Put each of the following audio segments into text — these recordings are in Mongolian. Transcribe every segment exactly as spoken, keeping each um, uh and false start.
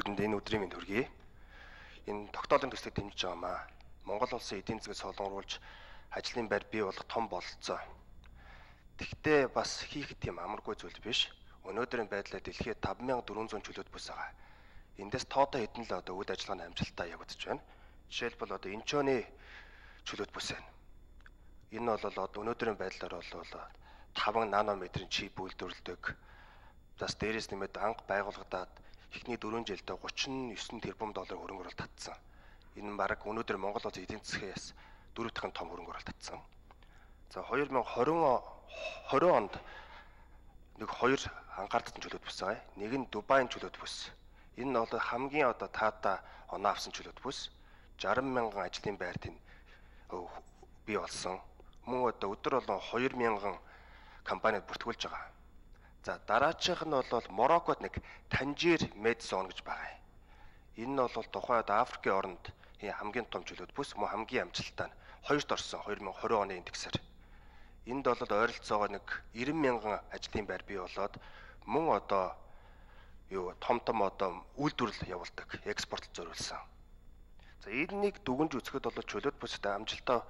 Бүгдэнд энэ өдрийн мэнд хүргэе. Энэ тогтоолын төслийг дэмжиж байгаамаа. Монгол улсын эдийн засгийг солонгоруулж ажлын байр бий болох том бололцоо. Тэгтээ бас хийх тийм амаргүй зүйл биш. Өнөөдрийн байдлаар дэлхийд таван мянга дөрвөн зуун чөлөөт бүс байгаа. Эндээс тоотоо хэдэн л одоо үйл ажиллагааны амжилттай явагдаж байна. Жишээлбэл одоо Инчоны чөлөөт бүс байна. Энэ бол одоо өнөөдрийн байдлаар бол таван нанометрийн чип үйлдвэрлэдэг. Бас дээрээс нэмээд анх байгуулагдаад эхний дөрвөн жилдээ гучин есөн тэрбум доллар хөрөнгө оруулалт татсан. Энэ нь бараг өнөөдөр Монгол улсын эдийн засгаас дөрөв дахин том хөрөнгө оруулалт татсан. За две тысячи двадцать онд нэг хоёр анхаардсан чөлөөт бүс байгаа. Нэг нь Дубайн чөлөөт бүс. Энэ нь бол хамгийн одоо таата оноо авсан чөлөөт бүс. шаран мянган ажлын байрт энэ бий болсон. Мөн одоо өдөр болгон хоёр мянган компанид бүртгүүлж байгаа. За дараачих нь бол Мороккод нэг Танжир Медсон гэж байгаа. Энэ нь бол тухайд Африкийн оронд хамгийн том чөлөөт бүс, мөн хамгийн амжилттай нь хоёрт орсон две тысячи двадцать оны индексээр. Энд бол ойролцоогоо нэг девяносто мянган ажлын байр бий болоод мөн одоо юу том том одоо үйлдвэрлэл явуулдаг, экспорт зориулсан. За энийг дүгнж үзэхэд бол чөлөөт бүстэй амжилтаа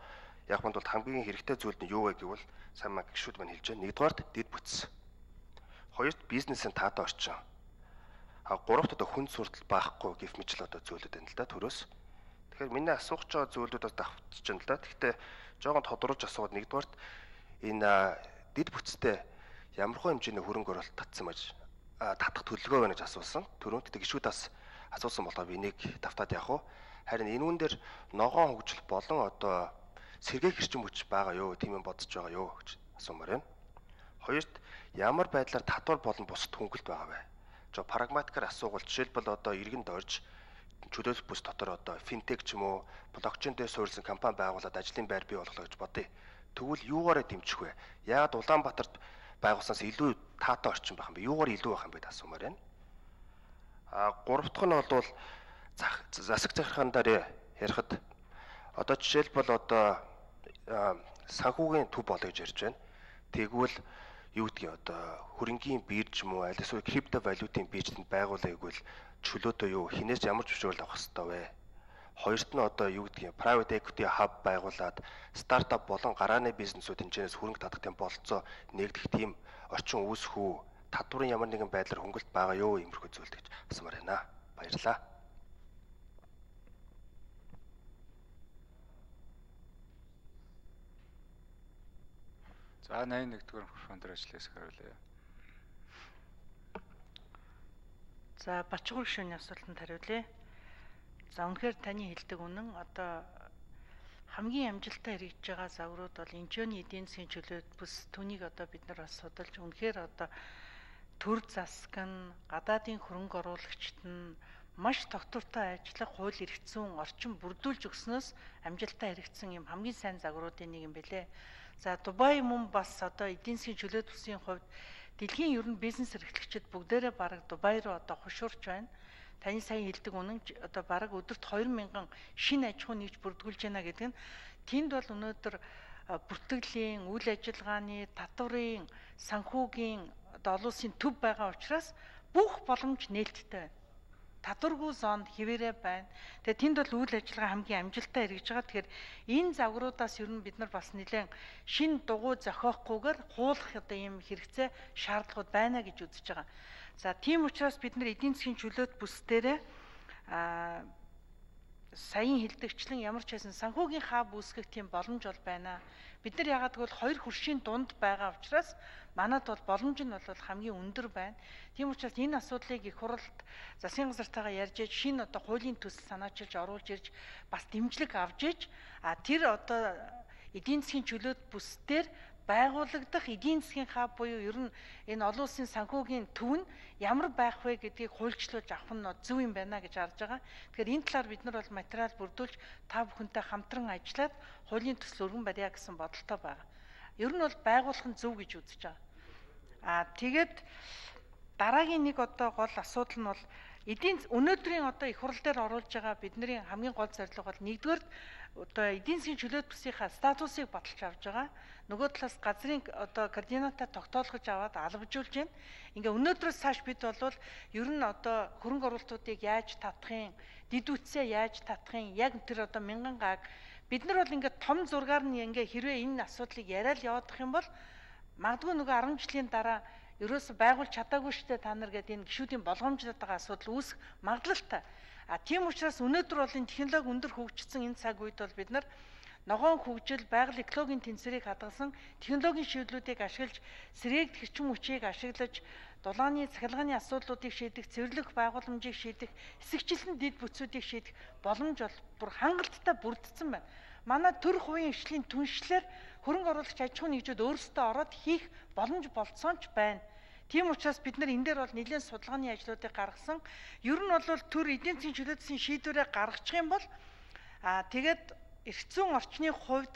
яг манд бол хамгийн хэрэгтэй зүйл нь юу вэ гэвэл сайн маа гişүүд маань хэлж байна. Нэгдүгээрт дэд бүтц. Хоёрт бизнесийн таатай орчин. А гуравт одоо хүн суртал баахгүй гэх мэт л одоо зүйлүүд байна л да төрөөс. Тэгэхээр миний асуух ч байгаа зүйлүүд бас давтчих юм л да. Гэхдээ жоохон тодорхойлж асууад нэгдүгээрт энэ дэд бүтцтэй ямархуу хэмжээний хөрөнгө оруулалт татсан мэж татах төлөвлөгөө байна гэж асуусан. Төрөнд гişүүд бас асуусан болохоор би энийг давтаад явах уу. Харин энэ үн дээр ногоон хөгжил болон одоо сэргээх хэрчим хүч байгаа юу, тийм юм бодож байгаа юу гэж асуумаар байна. Хоёрт ямар байдлаар татвар болон бусад хөнгөлт байгаа вэ? Жоо прагматикаар асуувал жишээлбэл одоо иргэн дорж чөлөөлөх бүс дотор одоо финтек ч юм уу, блокчейн дээр суурилсан компани байгуулад ажлын байр бий болгох гэж бодъё. Тэгвэл юугаараа дэмжих вэ? Яагаад Улаанбаатарт байгуулснаас илүү таатай орчин байх юм бэ? Юугаар илүү байх юм бэ гэж асуумаар байна. А гурав дахь нь бол засаг захиргаандаар ярихад одоо жишээлбэл одоо санхүүгийн төв болоо гэж ярьж байна. Тэгвэл юу гэдгийг одоо хөрөнгийн бирж юм уу аль эсвэл крипто валютын биржэнд байгуулъя гэвэл чөлөөтөө юу хинээс ямар зөвшөөрөл авах хэрэгтэй вэ? Хоёрт нь одоо юу гэдгийг private equity hub байгуулад стартап болон гарааны бизнесүүд энэчнээс хөрөнгө татах тийм бололцоо нэгдэх тийм орчин үүсэх үү? Татварын ямар нэгэн байдлаар хөнгөлт байгаа юу? Иймэрхүү зүйлд гэж асуумаар байна. Баярлалаа. За восемьдесят one дугаар микрофон дээр ажиллаж хариулъя. За Бачгүр гишүүний асуултанд хариулъя. За үнэхээр таны хэлдэг үнэн одоо хамгийн амжилттай хэрэгжиж байгаа загварууд бол Инчоны эдийн засгийн чөлөөт бүс түүнийг одоо бид нар бас судалж үнэхээр одоо төр засаг нь гадаадын хөрөнгө оруулагчид нь маш тогтвортой ажиллах хууль эрх зүйн орчин бүрдүүлж өгснөөс амжилттай хэрэгжсэн юм хамгийн сайн загваруудын нэг юм бэлээ. За Дубай мөн бас одоо эдийн засгийн чөлөөт бүсийн хувьд дэлхийн ер нь бизнес эрхлэгчид бүгдээрээ бараг Дубай руу одоо хушуурч байна. Таны сайн хэлдэг үнэн одоо бараг өдөрт две мянган шинэ аж ахуй нэгж бүрдүүлж байна гэдэг нь тэнд бол өнөөдөр бүртгэлийн, үйл ажиллагааны, татварын, санхүүгийн одоо олон улсын төв байгаа учраас бүх боломж нээлттэй байна. Татваргүй зоонд хэвээрээ байна. Тэгээ тэнд бол үйл ажиллагаа хамгийн амжилттай хэрэгжиж байгаа. Тэгэхээр энэ загваруудаас ер нь бид нар бас нэлээд шин дугуй зохиохгүйгээр хуулах одоо ийм хэрэгцээ шаардлагууд байна гэж үзэж байгаа. За тийм учраас бид нар эдийн засгийн чөлөөт бүс дээрээ аа саяын хэлдэгчлэн ямар ч байсан санхүүгийн хаб үүсгэх тийм боломж бол байна. Бид нар ягаад гэвэл хоёр хөршийн дунд байгаа учраас манад бол боломж нь бол хамгийн өндөр байна. Тийм учраас энэ асуудлыг их хуралд засгийн газартайгаа ярьж иж шинэ одоо хуулийн төсөл санаачилж оруулж ирж бас дэмжлэг авж иж а тэр одоо эдийн засгийн чөлөөт бүс дээр байгуулагдах эдийн засгийн хаб буюу ер нь энэ олон улсын санхүүгийн төв нь ямар байх вэ гэдгийг хуульчлуулж авах нь зөв юм байна гэж харж байгаа. Тэгэхээр энэ талаар бид нар бол материал бүрдүүлж та бүхэнтэй хамтран ажиллаад хуулийн төсөл өргөн барья гэсэн бодолтой байгаа. Ер нь бол байгуулах нь зөв гэж үзэж байгаа. Аа тэгээд дараагийн нэг одоо гол асуудал нь бол эдийн өнөөдрийн одоо их хурл дээр оруулж байгаа бидний хамгийн гол зорилго бол нэгдүгээр одоо эдийн засгийн чөлөөт бүсийнхаа статусыг баталж авч байгаа. Нөгөө талаас газрын одоо координатаа тогтоолгож аваад алгажуулж байна. Ингээ өнөөдрөөс цааш бид болвол ер нь одоо хөрөнгө оруулалтуудыг яаж татахын, дид үтсээ яаж татахын, яг тэр одоо мянган гааг бид нар бол ингээ том зургаар нь ингээ хэрвээ энэ асуудлыг яриад яваадах юм бол магадгүй нөгөө арван жилийн дараа ерөөсө байгуулж чадаагүй штэ та нар гэдэг энэ гишүүдийн болгоомжлоод байгаа асуудал үүсэх магадлалтай. А тийм учраас өнөөдөр бол энэ технологи өндөр хөгжсөн энэ цаг үед бол бид нар ногоон хөгжил, байгаль экологийн тэнцвэрийг хадгалсан технологийн шийдлүүдийг ашиглаж, сэргээгдэх хүчин хүчийг ашиглаж, дулааны цахилгааны асуудлуудыг шийдэх, цэвэрлэх байгууламжийг шийдэх, эсэгчлэн дэд бүтцүүдийг шийдэх боломж бол бүр хангалттай бүрдсэн байна. Манай төр хувийн хөгжлийн түншлэлээр хөрөнгө оруулагч аж ахуйн нэгжүүд өөрсдөө ороод хийх боломж болцсон ч байна. Тийм учраас бид нар энэ дээр бол нэлээд судалгааны ажлуудыг гаргасан. Ер нь бол төр эдийн засгийн чөлөөтсөн шийдвэрээ гаргачих юм бол аа тэгээд эрх зүйн орчны хувьд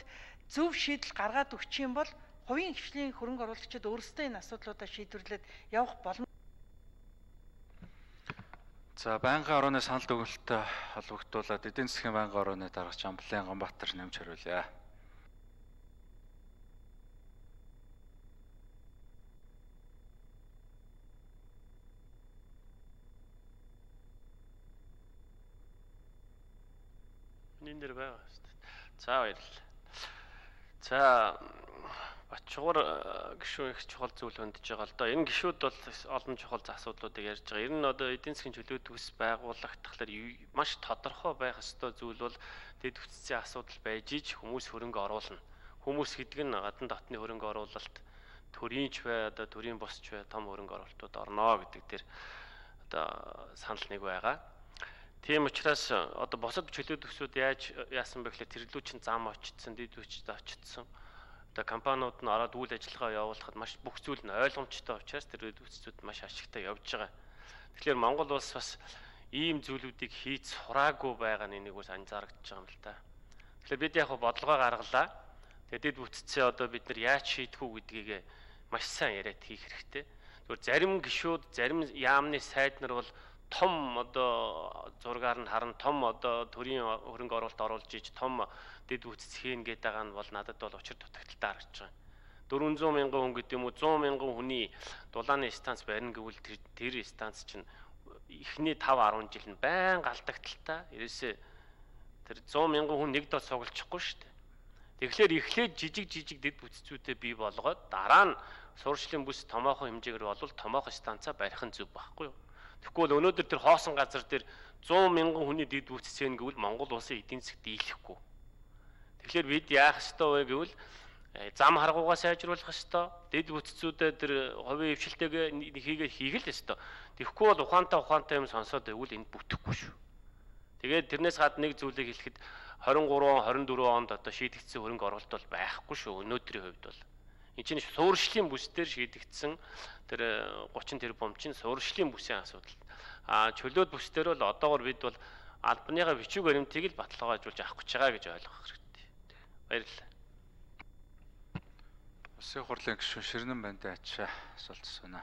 зөв шийдэл гаргаад өгчих юм бол хувийн хөгжлийн хөрөнгө оруулагчид өөрсдөө энэ асуудлуудаа шийдвэрлээд явах боломж. За байнгын орооны санал дүгнэлттэй холбогдуулаад эдийн засгийн байнгын орооны даргач Амблын Ганбаатар нэмж хариулъя. Энэ дээр байгаа шүү дээ. За баярлалаа. За Бачуур гишүүн их чухал зүйл хөндж байгаа л доо. Энэ гишүүд бол олон чухал асуудлуудыг ярьж байгаа. Ер нь одоо эдийн засгийн чөлөөт бүс байгуулах талаар маш тодорхой байх ёстой зүйл бол дэд бүтцийн асуудал байж иж хүмүүс хөрөнгө оруулна. Хүмүүс гэдэг нь гадна дотны хөрөнгө оруулалт төрийнч бай, одоо төрийн босч бай, том хөрөнгө оруулалтууд орно гэдэг дээр одоо санал нэг байгаа. Тийм учраас одоо босод чөлөөт бүсүүд яаж яасан бэ гэхлээр тэрлүү чин зам очсон, дэд бүтцэд очсон. Одоо компаниуд нь ороод үйл ажиллагаа явуулахад маш бүх зүйл нь ойлгомжтой учраас тэр дэд бүтцүүд маш ашигтай явж байгаа. Тэгэхээр Монгол улс бас ийм зүйлүүдийг хийж сураагүй байгаа нь энийг бас анзаарэгдэж байгаа юм л та. Тэгэхээр бид яг бодлогоо гаргалаа. Тэгээд дэд бүтцээ одоо бид нар яаж шийдэх үү гэдгийг маш сайн яриад хийх хэрэгтэй. Тэгвэл зарим гишүүд, зарим яамны сайд нар бол том одоо зургаар нь харан том одоо төрийн хөрөнгө оруулалт оруулж иж том дэд бүтц хийн гэдэг байгаа нь бол надад бол учир дутагдaltaй харагдаж байгаа. дөрвөн зуун мянган хүн гэдэг юм уу зуун мянган хүний дулааны станц барина гэвэл тэр тэр станц чинь эхний таван арван жил нь байн алдагдaltaй. Ерөөсөө тэр зуун мянган хүн нэг дот цуглчихгүй шүү дээ. Тэгэхээр эхлээд жижиг жижиг дэд бүтцүүдээ бий болгоод дараа нь сурчлын бүс томоохон хэмжээгээр болвол томоохон станцаа барих нь зөв байхгүй юу? Тэгэхгүй бол өнөөдөр тэр хоосон газар дээр зуун мянган хүний дэд бүтцэн гэвэл Монгол улсын эдийн засаг дийлэхгүй. Тэгэхээр бид яах ёстой вэ гэвэл зам харгуугаа сайжруулах ёстой. Дэд бүтцүүдэд тэр хувийн хвшилтэйг хийгээ хийх л ёстой. Тэгэхгүй бол ухаантай ухаантай юм сонсоод байвал энд бүтэхгүй шүү. Тэгээд тэрнээс гадна нэг зүйлийг хэлэхэд хорин гурван хорин дөрвөн онд одоо шийдэгдсэн хөрөнгө оруулалт бол байхгүй шүү. Өнөөдрийн хувьд бол энэ чинь суурьшлийн бүс дээр шийдэгдсэн тэр гучин тэрбум чинь суурьшлийн бүсийн асуудал. А чөлөөт бүс дээр бол одоогор бид бол албаныгаа бичиг баримтыг л баталгаажуулж авах гэж байгаа гэж ойлгох хэрэгтэй. Баярлалаа. Улсын хурлын гишүүн Ширнэн Бандан ачаа асуулт асууна.